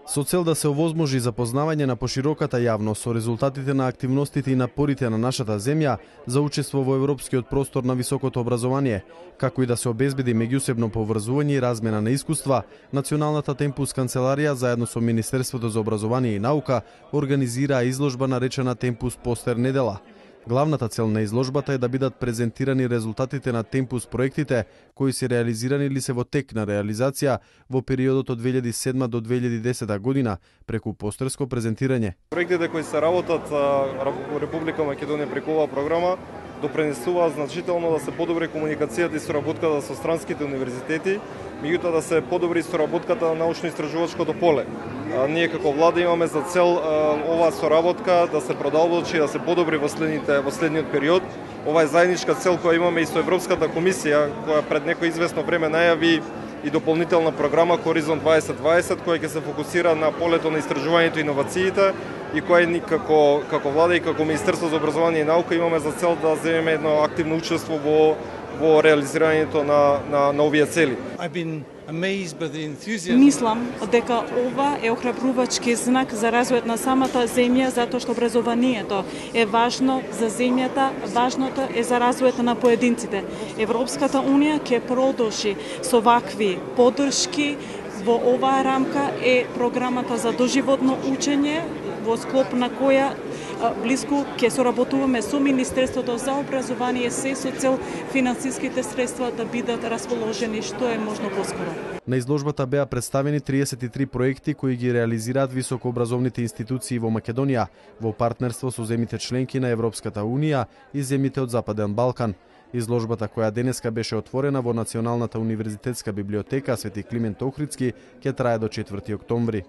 Со цел да се овозможи запознавање на пошироката јавност со резултатите на активностите и напорите на нашата земја за учество во европскиот простор на високото образование, како и да се обезбеди меѓусебно поврзување и размена на искуства, Националната Темпус канцеларија заедно со Министерството за образование и наука организираа изложба наречена Темпус Постер недела. Главната цел на изложбата е да бидат презентирани резултатите на Темпус проектите кои се реализирани или се во тек на реализација во периодот од 2007 до 2010 година преку постерско презентирање. Проектите кои се работат во Република Македонија преку оваа програма допринесуваат значително да се подобри комуникацијата и соработката со странските универзитети, меѓутоа да се подобри соработката на научно-истражувачкото поле. Ние како влада имаме за цел оваа соработка да се продолбочи и да се подобри во следниот период. Ова е заедничка цел која имаме и со Европската комисија, која пред некој известно време најави и дополнителна програма Хоризонт 2020, која ќе се фокусира на полето на истражувањето и иновациите и која ни како влада и како Министерство за образование и наука имаме за цел да земеме едно активно учество во реализирањето на овие цели. Мислам дека ова е охрабрувачки знак за развојот на самата земја, затоа што образованието е важно за земјата, важното е за развојот на поединците. Европската унија ќе продолжи со вакви поддршки. Во оваа рамка е програмата за доживотно учење, во склоп на која блиску ќе соработуваме со Министерството за образование се со цел финансиските средства да бидат расположени што е можно поскоро. На изложбата беа представени 33 проекти кои ги реализираат високообразовните институции во Македонија во партнерство со земјите членки на Европската унија и земјите од Западен Балкан. Изложбата која денеска беше отворена во Националната универзитетска библиотека Свети Климент Охридски ќе трае до 4 октомври.